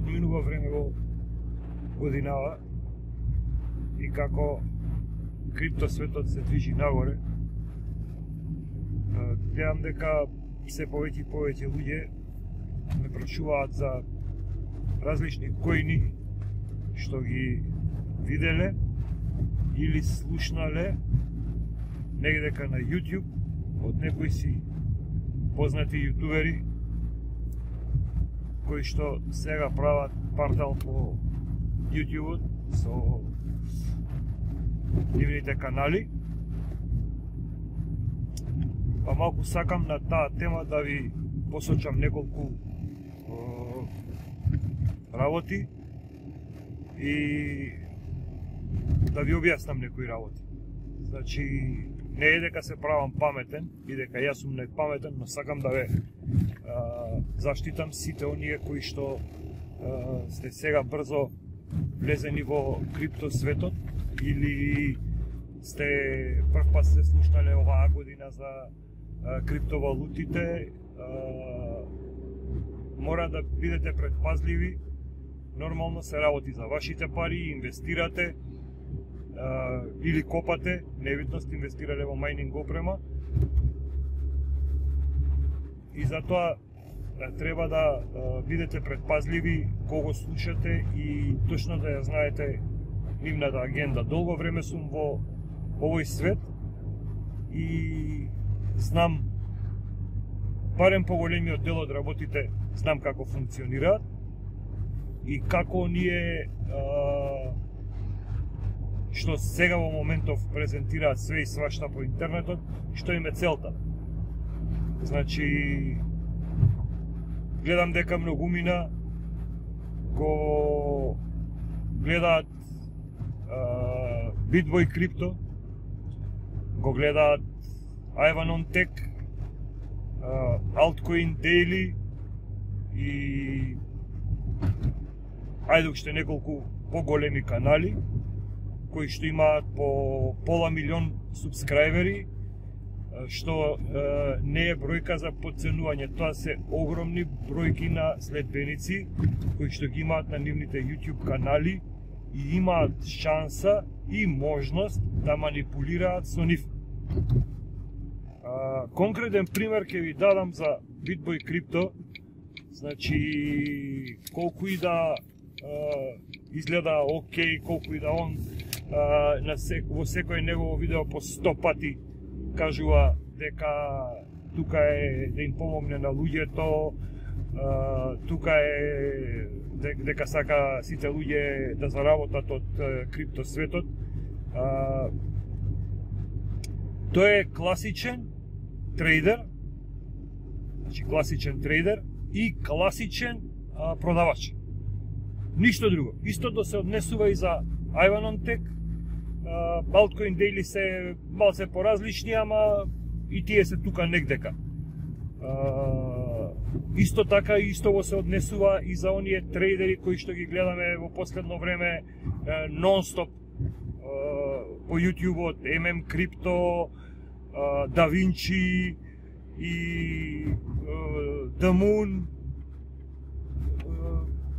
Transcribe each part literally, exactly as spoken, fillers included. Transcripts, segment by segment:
одминува време во годинава и како крипто светот се движи нагоре, гледам дека се повеќе и повеќе луѓе ме прашуваат за различни коини што ги виделе или слушнале негдека на YouTube од некои си познати јутубери кои што сега прават портал по YouTube со нивните канали. Па малку сакам на таа тема да ви посочам неколку о, работи и да ви објаснам некои работи. Значи, не е дека се правам паметен и дека јас сум најпаметен, но сакам да ве а, заштитам сите оние кои што а, сте сега брзо влезени во крипто светот или сте прв пат се слушнале оваа година за а, криптовалутите. А, мора да бидете предпазливи. Нормално се работи за вашите пари, инвестирате а, или копате, невидност инвестирале во мајнинг опрема. И затоа а, треба да а, бидете предпазливи кого слушате и точно да ја знаете нивната агенда. Долго време сум во овој свет и знам барем поголемиот дел од работите, знам како функционираат и како ние а, што сега во моментов презентираат све и свашта по интернетот, што им е целта. Значи, гледам дека многумина го гледаат а, Bitboy Crypto, го гледаат Ivan on Tech, uh, Altcoin Daily и ајде уште неколку поголеми канали кои што имаат по пола милион субскрајбери, што uh, не е бројка за подценување, тоа се огромни бројки на следбеници кои што ги имаат на нивните YouTube канали и имаат шанса и можност да манипулираат со нив. Uh, конкретен пример ќе ви дадам за Bitboy Crypto. Значи, колку и да uh, изгледа окей, колку и да он uh, на сек, во секој негово видео по сто пати кажува дека тука е да им помогне на луѓето, uh, тука е дека сака сите луѓе да заработат од uh, крипто светот. Uh, тој е класичен трейдер, значи класичен трейдер и класичен а, продавач. Ништо друго. Истото се однесува и за Ivan on Tech. А, Altcoin Daily се малце поразлични, ама и тие се тука негдека. А, исто така исто го се однесува и за оние трейдери кои што ги гледаме во последно време нон-стоп по YouTube-от, ем ем Crypto, Да Винчи и The Moon,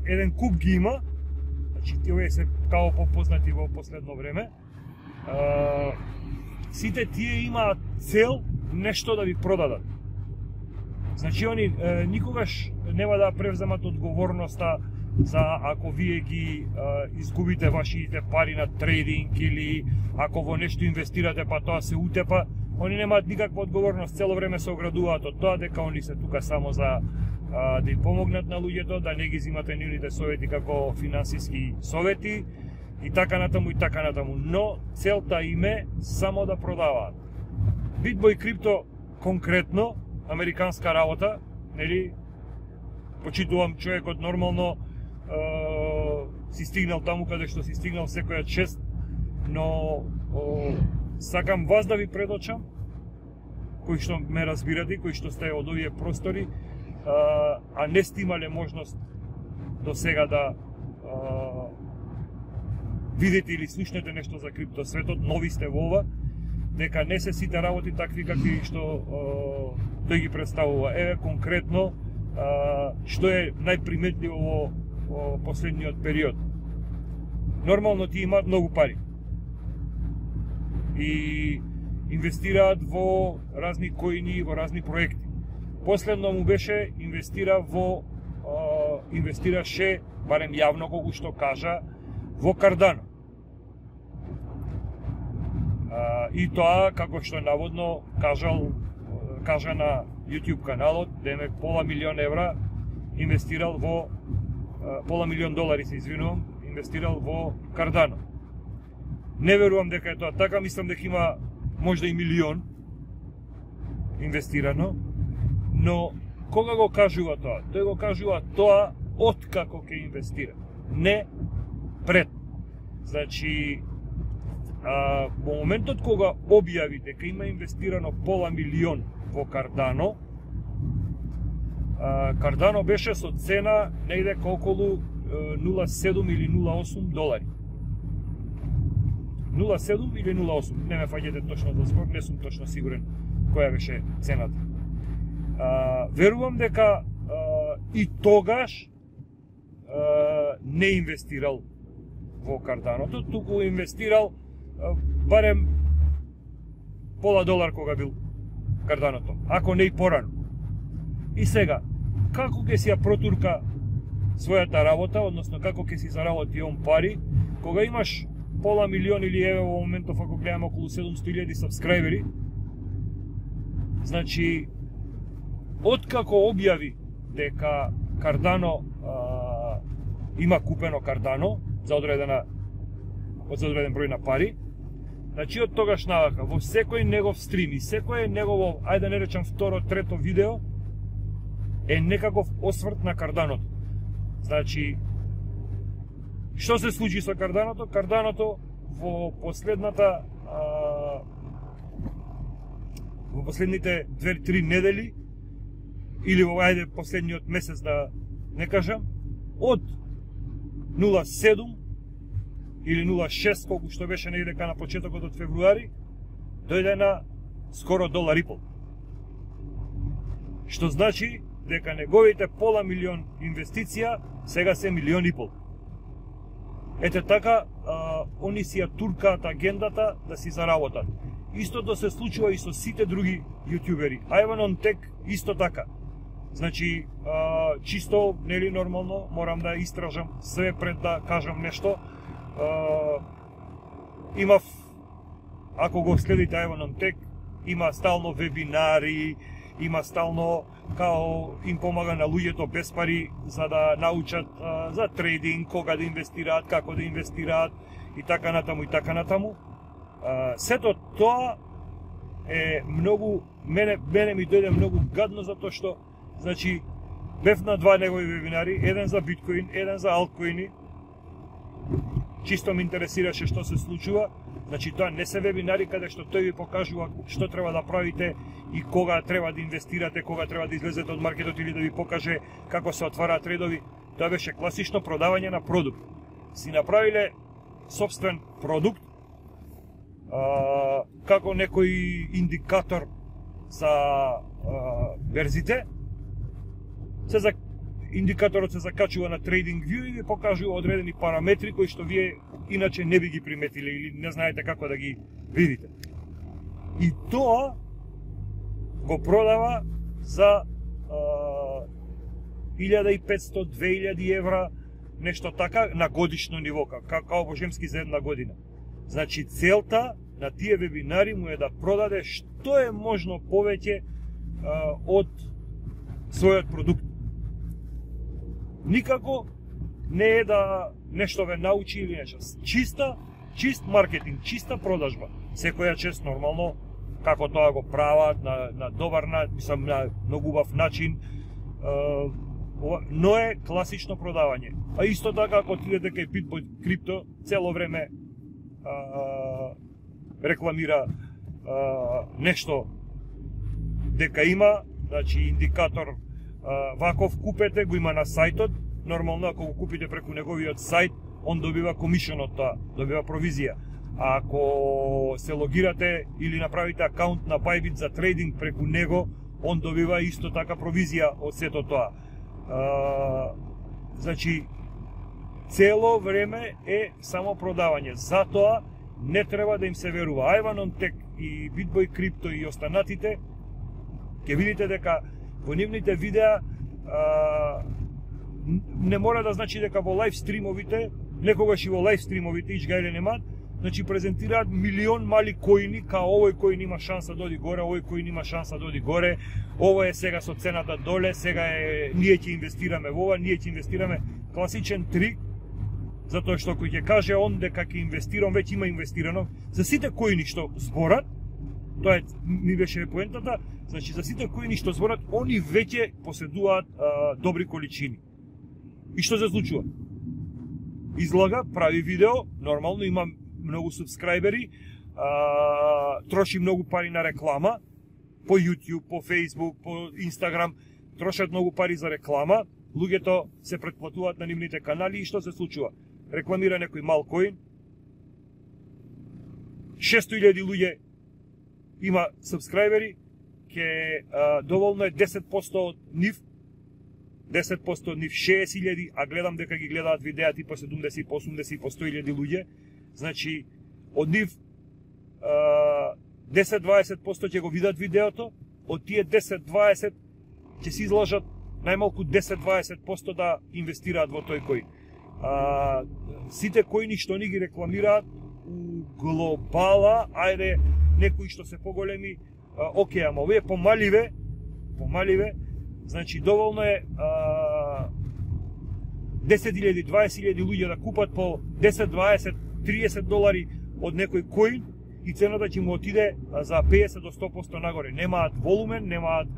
еден куп ги има, значи тие се као попознати во последно време. Сите тие имаат цел нешто да ви продадат. Значи они никогаш нема да превземат одговорноста за ако вие ги а, изгубите вашите пари на трейдинг или ако во нешто инвестирате па тоа се утепа, они немаат никаква одговорност, цело време се оградуваат од тоа дека они се тука само за а, да им помогнат на луѓето, да не ги зимате нивните совети како финансиски совети и така натаму и така натаму, но целта им е само да продаваат. Bitboy Crypto конкретно, американска работа, нели, почитувам човекот нормално, Uh, си стигнал таму каде што си стигнал секоја чест, но uh, сакам вас да ви предочам, кои што ме разбирате, кои што сте од овие простори, uh, а не сте имале можност до сега да uh, видите или слушнете нешто за крипто светот, нови сте во ова, дека не се сите работи такви какви што uh, тој ги представува. Еве конкретно uh, што е најприметливо во во последниот период. Нормално ти имаат многу пари и инвестираат во разни коини, во разни проекти. Последно му беше инвестира во а, инвестираше, барем јавно колку што кажа, во Cardano. А, и тоа, како што наводно кажал, кажа на YouTube каналот, демек пола милион евра инвестирал во, а, пола милион долари се извинувам, инвестирал во Cardano. Не верувам дека е тоа така, мислам дека има можда и милион инвестирано, но кога го кажува тоа? Тој го кажува тоа откако ќе инвестира, не пред. Значи, а, во моментот кога објави дека има инвестирано пола милион во Cardano, а, Cardano беше со цена негде околу нула седум или нула осум долари. нула седум или нула осум, не ме фаќате точно за збор, не сум точно сигурен која беше цената. А, верувам дека а, и тогаш а, не инвестирал во Карданото, туку инвестирал а, барем пола долар кога бил Карданото, ако не и порано. И сега, како ќе си ја протурка својата работа, односно како ќе си заработи он пари, кога имаш пола милион или еве во моментов ако гледаме околу седумстотини илјади сабскрајбери. Значи, откако објави дека Cardano а, има купено Cardano за одредена од за одреден број на пари, значи од тогаш навака во секој негов стрим и секој негово, ајде да не речам второ, трето видео е некаков осврт на Карданото. Значи, што се случи со Карданото? Карданото во последната а, во последните две-три недели или во ајде последниот месец да не кажам, од нула седум или нула шест колку што беше негде на почетокот од февруари, дојде на скоро долар и пол. Што значи дека неговите пола милион инвестиција сега се милион и пол. Ете така, а, они си ја туркаат агендата да си заработат. Истото се случува и со сите други јутјубери. Ivan on Tech исто така. Значи, а, чисто, нели нормално, морам да истражам све пред да кажам нешто. А, имав, ако го следите Ivan on Tech, има стално вебинари, има стално као им помага на луѓето без пари за да научат а, за трейдинг, кога да инвестираат, како да инвестираат и така натаму и така натаму. А, сето тоа е многу, мене, мене ми дојде многу гадно затоа што, значи, бев на два негови вебинари, еден за биткоин, еден за алткоини. Чисто ме интересираше што се случува. Значи, тоа не се вебинари каде што тој ви покажува што треба да правите и кога треба да инвестирате, кога треба да излезете од маркетот или да ви покаже како се отвараат редови. Тоа беше класично продавање на продукт. Си направиле собствен продукт, а, како некој индикатор за а, берзите. Се за индикаторот се закачува на TradingView и ви покажува одредени параметри кои што вие иначе не би ги приметиле или не знаете како да ги видите. И тоа го продава за илјада и петстотини до две илјади евра, нешто така, на годишно ниво, како божемски за една година. Значи, целта на тие вебинари му е да продаде што е можно повеќе а, од својот продукт. Никако не е да нешто ве научи или нешто. Чиста, чист маркетинг, чиста продажба. Секоја чест нормално, како тоа го прават, на, на добар начин, мислам, на многу убав начин, а, но е класично продавање. А исто така, ако отидете кај Bitboy Crypto, цело време а, рекламира а, нешто дека има, значи индикатор а, ваков купете, го има на сајтот. Нормално, ако го купите преку неговиот сајт, он добива комишен од тоа, добива провизија. А ако се логирате или направите акаунт на Bybit за трейдинг преку него, он добива исто така провизија од сето тоа. А, значи, цело време е само продавање. Затоа не треба да им се верува. Айваноntech и BitBoy Crypto и останатите, ќе видите дека во нивните видеа а, не мора да значи дека во лайв стримовите, некогаш и во лайв стримовите, ичгајле немаат, значи презентираат милион мали коини, као овој коин има шанса да оди горе, овој коин има шанса да оди горе, ово е сега со цената доле, сега е, ние ќе инвестираме во ова, ние ќе инвестираме. Класичен трик, затоа што кој ќе каже он дека ќе инвестирам, веќе има инвестирано. За сите коини што зборат, тоа е, ми беше поентата, значи за сите коини што зборат, они веќе поседуваат а, добри количини. И што се случува? Излага, прави видео, нормално има многу субскрајбери, а, троши многу пари на реклама, по YouTube, по Facebook, по Instagram, трошат многу пари за реклама, луѓето се претплатуваат на нивните канали и што се случува? Рекламира некој мал коин, шесто илјади луѓе има субскрајбери, ке а, доволно е десет проценти од нив, десет проценти од нив шеесет илјади, а гледам дека ги гледаат видеа типа седумдесет, по осумдесет, по сто илјади луѓе. Значи, од нив десет-дваесет проценти ќе го видат видеото, од тие десет-дваесет ќе се изложат најмалку десет-дваесет проценти да инвестираат во тој коин. А, сите коини што ни ги рекламираат у глобала, ајде, некои што се поголеми, а, окей, ама овие помаливе, помаливе, значи доволно е а, десет илјади, дваесет илјади луѓе да купат по десет, дваесет, триесет долари од некој коин и цената ќе му отиде за пеесет до сто проценти нагоре. Немаат волумен, немаат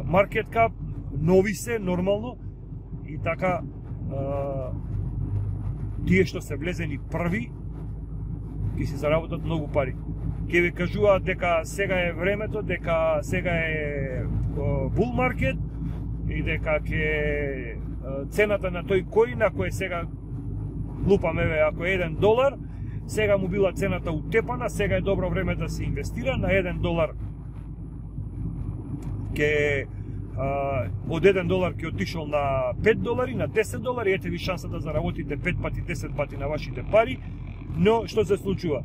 маркет кап, нови се, нормално, и така а, тие што се влезени први ќе си заработат многу пари. Ќе ви кажуваат дека сега е времето, дека сега е бул маркет и дека ќе цената на тој коин, ако е сега, лупам еве, ако е еден долар, сега му била цената утепана, сега е добро време да се инвестира, на еден долар ќе од еден долар ќе отишол на пет долари, на десет долари, ете ви шанса да заработите пет пати, десет пати на вашите пари, но што се случува?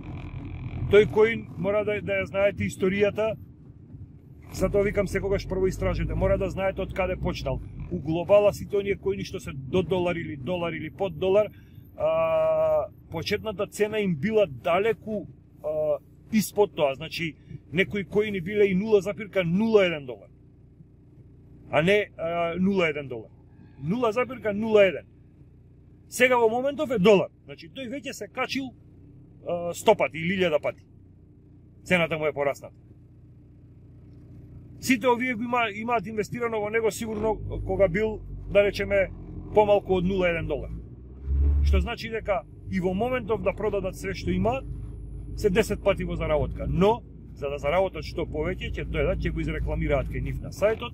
Тој коин мора да, да ја знаете историјата, затоа викам секогаш прво истражете, мора да знаете од каде почнал. У глобала сите оние коини што се до долар или долар или под долар, а, почетната цена им била далеку а, испод тоа, значи некои коини биле и нула запирка нула еден долар, а не а, нула еден долар. нула запирка нула еден. Сега во моментов е долар, значи тој веќе се качил а, сто пати или илјада пати. Цената му е порасната. Сите овие има, имаат инвестирано во него сигурно кога бил, да речеме, помалку од нула еден долар. Што значи дека и во моментов да продадат све што имаат, се десет пати во заработка. Но, за да заработат што повеќе, ќе дојдат, ќе го изрекламираат кај нив на сајтот,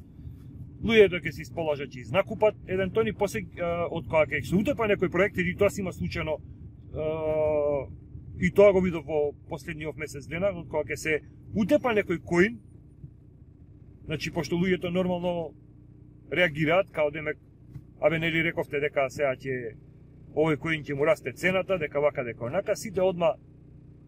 луѓето ќе се исположат, ќе изнакупат, еден тони после, од кога ќе се утепа некој проект, или тоа си има случајно, и тоа го видов во последниот месец дена, од кога ќе се утепа некој коин, значи, пошто луѓето нормално реагираат, као демек, абе, нели рековте дека сега ќе овој коин ќе му расте цената, дека вака, дека онака, сите одма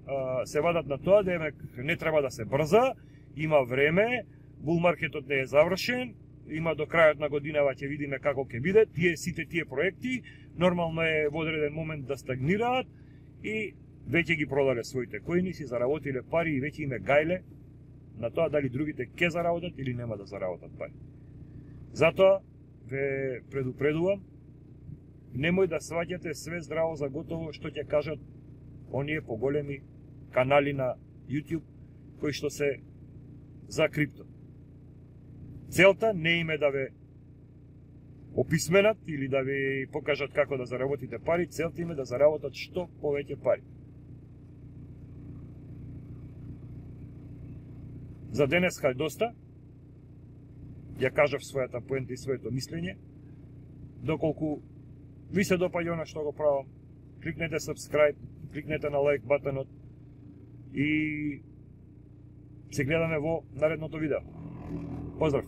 а, се вадат на тоа, демек не треба да се брза, има време, бул маркетот не е завршен, има до крајот на годинава ќе видиме како ќе биде, тие сите тие проекти, нормално е во одреден момент да стагнираат и веќе ги продале своите коини, си заработиле пари и веќе име гајле на тоа дали другите ќе заработат или нема да заработат пари. Затоа ве предупредувам, немој да сваќате све здраво за готово што ќе кажат оние поголеми канали на YouTube кои што се за крипто. Целта не име да ве описменат или да ви покажат како да заработите пари, целта име да заработат што повеќе пари. За денеска е доста. Ја кажав својата поента и своето мислење. Доколку ви се допаѓа она што го правам, кликнете subscribe, кликнете на лайк батонот и се гледаме во наредното видео. Поздрав!